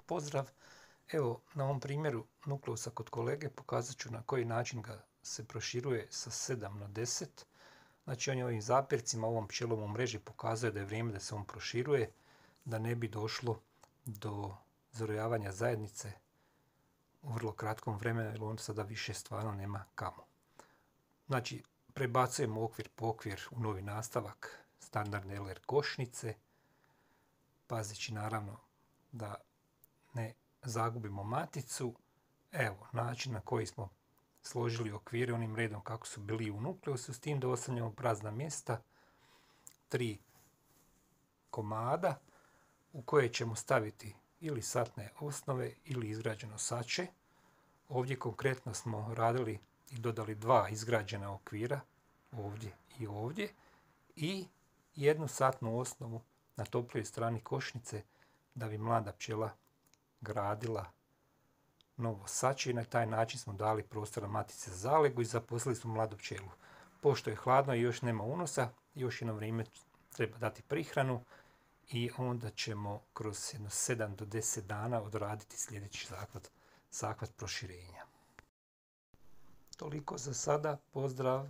pozdrav. Evo, na ovom primjeru nukleusa kod kolege pokazat ću na koji način ga se proširuje sa 7 na 10. Znači, on je ovim zapircima, ovom pčelom u mreži pokazuje da je vrijeme da se on proširuje, da ne bi došlo do zarojavanja zajednice u vrlo kratkom vremenu, jer on sada više stvarno nema kamo. Znači, prebacujemo okvir po okvir u novi nastavak standardne LR košnice, pazeći naravno da ne zagubimo maticu. Evo, način na koji smo složili okvire onim redom kako su bili u nukleusu, s tim da ostavljamo prazna mjesta, 3 komada u koje ćemo staviti ili satne osnove ili izgrađeno sače. Ovdje konkretno smo radili i dodali 2 izgrađena okvira, ovdje i ovdje, i jednu satnu osnovu na toplijoj strani košnice da bi mlada pčela gradila novo sače i na taj način smo dali prostora matice za zalegu i zaposlili smo mladu pčelu. Pošto je hladno i još nema unosa, još jedno vrijeme treba dati prihranu i onda ćemo kroz jedno 7 do 10 dana odraditi sljedeći zahvat proširenja. Toliko za sada, pozdrav!